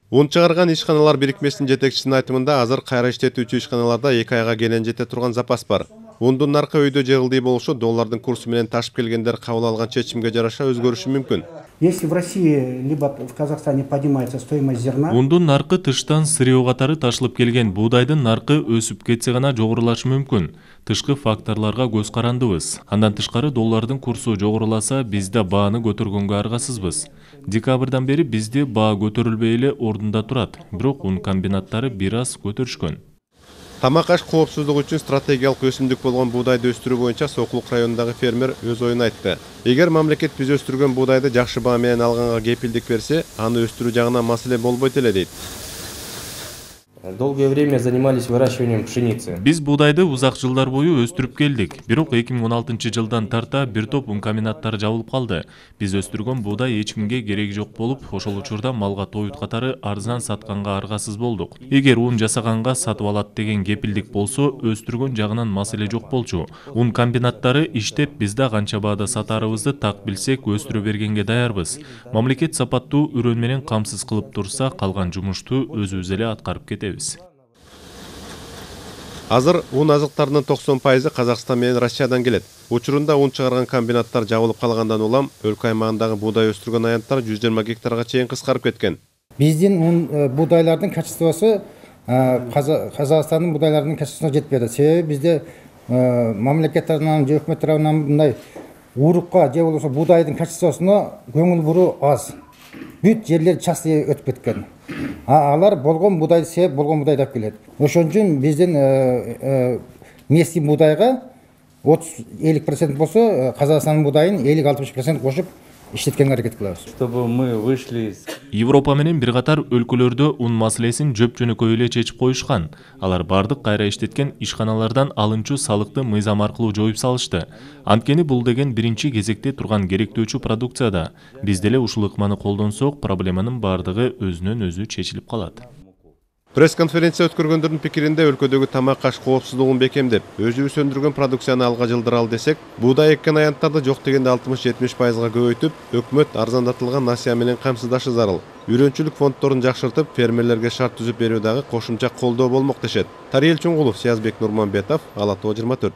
Un чыгарган ишканалар бирикмесинин жетекчисинин айтымында азыр кайра иштетүүчү ишканаларда 2 айга келен жете турган запас бар. Ундун наркы өйдө жегилдий болушу доллардын курсу менен ташып келгендер кабыл алган чечимге жараша өзгөрүшү мүмкүн. Если в России либо в Казахстане поднимается стоимость зерна, ундун наркы тыштан сырьё катары ташылып келген буудайдын наркы өсүп кетсе гана жогорулашы мүмкүн. Тышкы факторлорго көз карандыбыз. Андан тышкары доллардын курсу жогоруласа, биз да бааны көтөргөнгө аргасызбыз. Декабрдан бери бизде баа көтөрүлбөй эле ордунда турат. Бирок un комбинаттары бир аз көтөрүшкөн. Тамак-аш коопсуздугу үчүн стратегиялык өсүмдүк болгон буудайды өстүрүү боюнча Сокулук районундагы фермер өз оюн айтты. Эгер мамлекет биз өстүргөн буудайды жакшы баа менен алганга кепилдик берсе, аны өстүрүү жагынан маселе болбойт эле дейт. Долгое время занимались выращиванием пшеницы. Биз буудайды узак жылдар бою өстүрүп келдик. Бирок 2016-жылдан тарта бир топ un комбинаттары жабылып калды. Биз өстүргөн буудай эч кимге кереги жок болуп, ошол учурда малга тоют катары арзан сатканга аргасыз болдук. Эгер un жасаганга сатып алат деген кепилдик болсо, өстүргөн жагынан маселе жок болчу. Un комбинаттары иштеп, биз да канча баада сатарыбызды так билсек, өстүрө бергенге даярбыз. Мамлекет сапаттуу үрөн менен камсыз кылып турса, калган жумушту өзүбүз эле аткарып кетебиз. Азыр un азыктарынын 90% Казакстан менен Россиядан келет. Учурунда un чыгарган комбинаттар жабылып калгандан улам өлкө аймагындагы буудай өстүргөн аянттар 120 гектарга чейин кыскарып кеткен. биздин буудайлардын качествосу Казакстандын буудайларынын качествосуна жетпей атат. Себеби бизде мамлекет тарабынан же өкмөт тарабынан мындай урукка же болбосо буудайдын качествосуна көңүл буруу аз. Бүт жерлер частный өтүп кеткен. Алар болгон буудайды сеп, болгон буудайды алып келет. Ошон үчүн биздин местный буудайга 30-50% болсо, Казакстандын буудайын 50-60% кошуп иштеткенге аракет кылабыз. Чтобы мы вышли из Европа менен бир катар өлкөлөрдө un маселесин жөп-жөнөкөй эле чечип коюшкан. Алар бардык кайра иштеткен ишканалардан алынчу салыкты мыйзам аркылуу жоюп салышты. Анткени бул деген биринчи кезекте турган керектөөчү продукцияда. Биз деле ушул ыкманы колдонсок, проблеманын бардыгы өзүнөн өзү чечилип калат. Пресс-конференция өткөргөндөрдүн пикиринде өлкөдөгү тамак-аш коопсуздугун бекемдеп, өзүбүз өндүргөн продукцияны алга жылдыралы десек, буудай эккен аянттарды жок дегенде 60-70%га көбөйтүп, өкмөт арзандатылган насыя менен камсыздашы зарыл. Үйрөнчүлүк фонддорун жакшыртып, фермерлерге шарт түзүп берүү дагы кошумча колдоо болмок дешет. Тариел Чуңгулов, Сиязбек Нурманбетов, Ала Тоо 24.